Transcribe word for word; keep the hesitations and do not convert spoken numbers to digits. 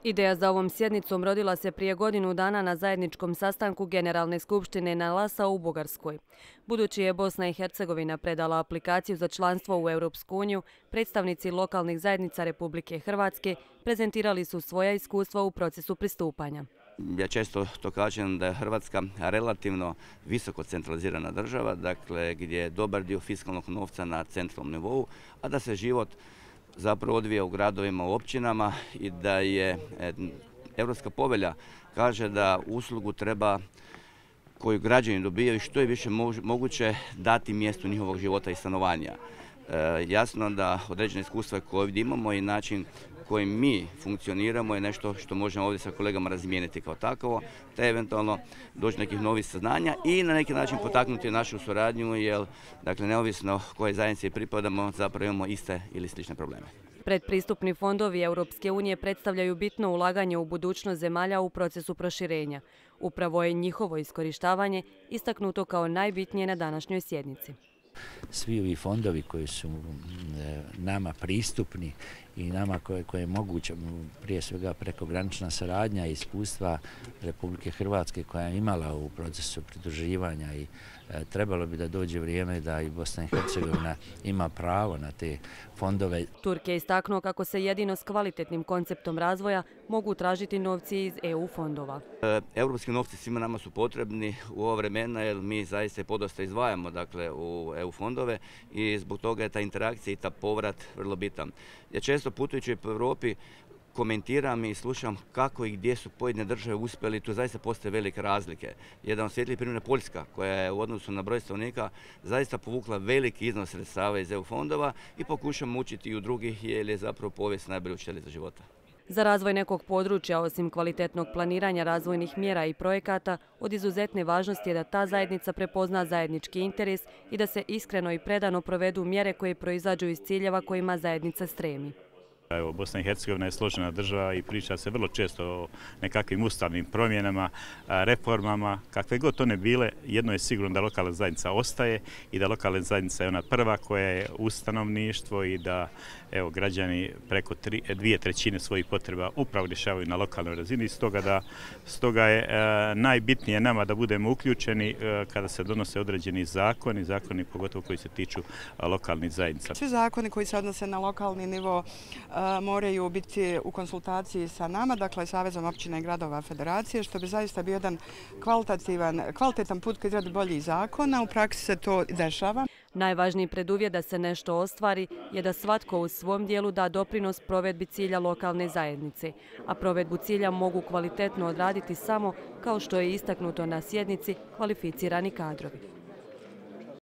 Ideja za ovom sjednicom rodila se prije godinu dana na zajedničkom sastanku Generalne skupštine na Lasa u Bugarskoj. Budući je Bosna i Hercegovina predala aplikaciju za članstvo u Europsku uniju, predstavnici lokalnih zajednica Republike Hrvatske prezentirali su svoja iskustva u procesu pristupanja. Ja često to kažem da je Hrvatska relativno visoko centralizirana država, dakle gdje je dobar dio fiskalnog novca na centralnom nivou, a da se život zapravo odvija u gradovima, u općinama i da je Europska povelja kaže da uslugu treba koju građani dobijaju što je više moguće dati mjestu njihovog života i stanovanja. E, jasno da određene iskustva koje ovdje imamo i način kojim mi funkcioniramo je nešto što možemo ovdje sa kolegama razmijeniti kao takovo, te eventualno doći nekih novih saznanja i na neki način potaknuti našu suradnju, jer dakle, neovisno koje zajednici pripadamo, zapravo imamo iste ili slične probleme. Predpristupni fondovi Europske unije predstavljaju bitno ulaganje u budućnost zemalja u procesu proširenja. Upravo je njihovo iskorištavanje istaknuto kao najbitnije na današnjoj sjednici. Svi ovi fondovi koji su nama pristupni i nama koje, koje je moguće, prije svega prekogranična saradnja i iskustva Republike Hrvatske koja je imala u procesu pridruživanja i e, trebalo bi da dođe vrijeme da i Bosna i Hercegovina ima pravo na te fondove. Turk je istaknuo kako se jedino s kvalitetnim konceptom razvoja mogu tražiti novci iz E U fondova. E, Europski novci svima nama su potrebni u ovo vremena jer mi zaista podosta izdvajamo dakle, u E U fondove i zbog toga je ta interakcija i ta povrat vrlo bitan. Ja često putujući po Europi komentiram i slušam kako i gdje su pojedine države uspjeli, tu zaista postoje velike razlike. Jedan od svjetlijih primjera je Poljska, koja je u odnosu na broj stanovnika zaista povukla veliki iznos sredstava iz E U fondova i pokušamo učiti i u drugih jer je zapravo povijest najbolja učiteljica života. Za razvoj nekog područja, osim kvalitetnog planiranja razvojnih mjera i projekata, od izuzetne važnosti je da ta zajednica prepozna zajednički interes i da se iskreno i predano provedu mjere koje proizađu iz ciljeva kojima zajednica stremi. Evo, Bosna i Hercegovina je složena država i priča se vrlo često o nekakvim ustavnim promjenama, reformama, kakve god one bile. Jedno je sigurno da lokalna zajednica ostaje i da lokalna zajednica je ona prva koja je uz stanovništvo i da evo, građani preko tri, dvije trećine svojih potreba upravo rješavaju na lokalnoj razini. Stoga, da, stoga je e, najbitnije nama da budemo uključeni e, kada se donose određeni zakoni, zakoni pogotovo koji se tiču a, lokalnih zajednica. Svi zakoni koji se odnose na lokalni nivo moraju biti u konsultaciji sa nama, dakle Savezom općina i gradova Federacije, što bi zaista bio jedan kvalitativan, kvalitetan put ka izradi boljih zakona. U praksi se to dešava. Najvažniji preduvjet da se nešto ostvari je da svatko u svom dijelu da doprinos provedbi cilja lokalne zajednice, a provedbu cilja mogu kvalitetno odraditi samo, kao što je istaknuto na sjednici, kvalificirani kadrovi.